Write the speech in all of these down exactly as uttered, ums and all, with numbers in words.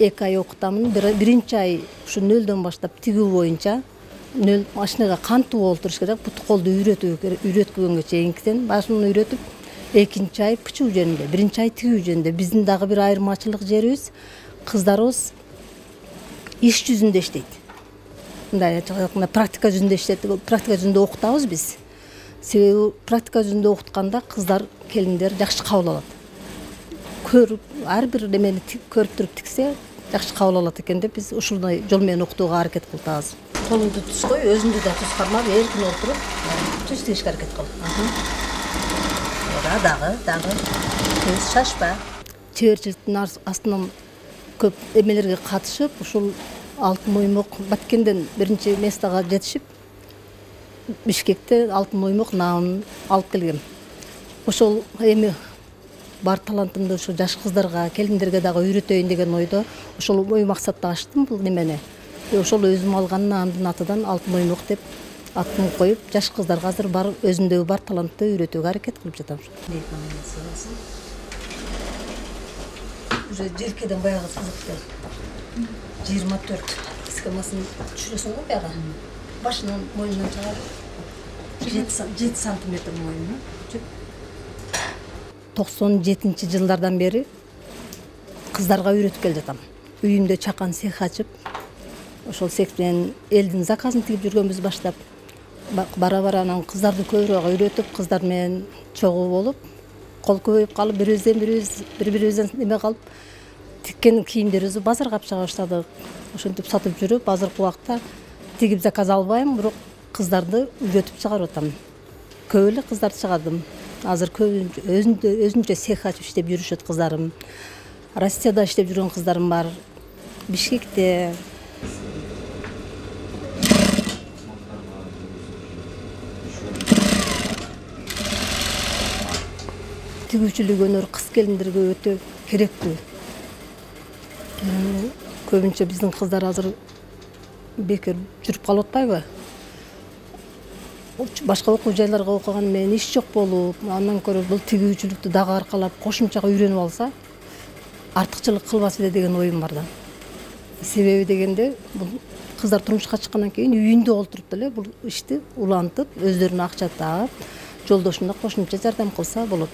эки ай окутамын. Биринчи ай ушу нөлдөн баштап тигүү боюнча нөл машинага кантип олтуруш керек, бут колду үйрөтүү үйрөткөнгө чейинкиден башын үйрөтүп, экинчи ай пычуу жөнүндө, биринчи ай тигүү жөнүндө. Биздин дагы бир айырмачылык жерибиз, кыздарыбыз иш жүзүндө иштейт. Мындай айтканда практика жүзүндө иштейт, практика жүзүндө окутабыз биз. Себеби практика жүзүндө окутканда кыздар, келиндер жакшы кабыл алат. Көрүп, ар бир немени көрүп туруп тиксе, жакшы кабыл алат экен деп биз ушундай жол менен окутууга аракет кылып атабыз. Колуңду түз кой, өзүңдү да түз кармап, эркин отуруп, түз тигишке аракет кыл. Ora дагы, дагы. Түз шашпа. Чеберчиликтин астынан көп эмелерге катышып, ушул алтын моймок Баткенден биринчи местага жетишип, Бишкекте алтын моймок наамын алып келгем. Ошол эми бар талантымды ошо жаш кыздарга, келиндерге дагы үйрөтөйүн деген ойдо ошол ой максатта ачтым бул немени. Ошол өзүм алган наамдын атынан алтын моймок деп атын коюп, жаш кыздарга азыр бар өзүмдөгү бар талантты үйрөтүүгө аракет кылып жатам. Уже желкеден баягы сызыкты жыйырма төрт схемасын түшүрөсүң го баягы. Башынан мойнунан чыгарып жети сантиметр мойну. токсон жетинчи жылдардан бери кыздарга үйрөтүп келе жатам. Үйүмдө чакан цех ачып, ошол цех менен элдин заказын тигип жүргөнбүз баштап. Бара-бара анан кыздарды көбүрөөк үйрөтүп, кыздар менен чогуу болуп, кол көбөйүп калып, бирибизден бирибиз, бири-бирибизден неме калып, тиккен кийимдерибизди базарга алып чыга баштадык. Ошентип сатып жүрүп, азыркы убакта тигип заказ албайм, бирок кыздарды үйрөтүп чыгарып атам. Көп эле кыздарды чыгардым. Азыр көп өзүнчө цех ачып иштеп жүрүшөт кыздарым. Россияда иштеп жүргөн кыздарым бар. Бишкекте. Тигүүчүлүк өнөр кыз келиндерге өтө керектүү. Көбүнчө биздин кыздар азыр бекер жүрүп калып атпайбы? Башка окуу жайларга окуган менен иш жок болуп, андан көрө бул тигүүчүлүктү дагы аркалап, кошумча үйрөнүп алса, артыкчылык кылбас эле деген оюм бар да. Себеби дегенде, бул кыздар турмушка чыккандан кийин үйүндө олтуруп деле бул ишти улантып, өздөрүнө акча таап, жолдошуна кошумча жардам кылса болот.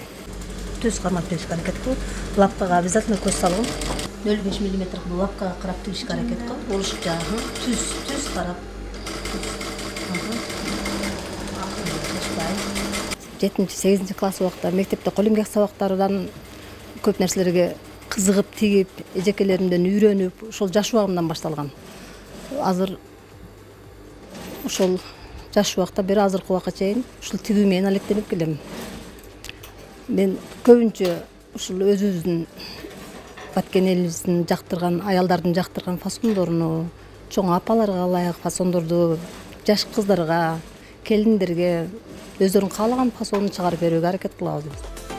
Түз кармап тигишке аракет кыл. Лапкага обязательно көз салгын. нөл беш миллиметр лапкага карап тигишке аракет кыл. Олушукча түз, түз карап. жетинчи сегизинчи класс убакта мектепте кол эмгек сабактарынан көп нерселерге кызыгып тигип, эжекелеримден үйрөнүп, ошол жаш убагымдан башталган. Азыр ошол жаш убакта бери азыркы убакка чейин ушул тигүү менен алектенип келем. Мен көбүнчө ушул өзүбүздүн Баткен элибиздин жактырган, аялдардын жактырган фасондоруну, чоң апаларга ылайык фасондорду жаш кыздарга, келиндерге өздөрүнүн каалаган фасонун чыгарып берүүгө аракет кылабыз.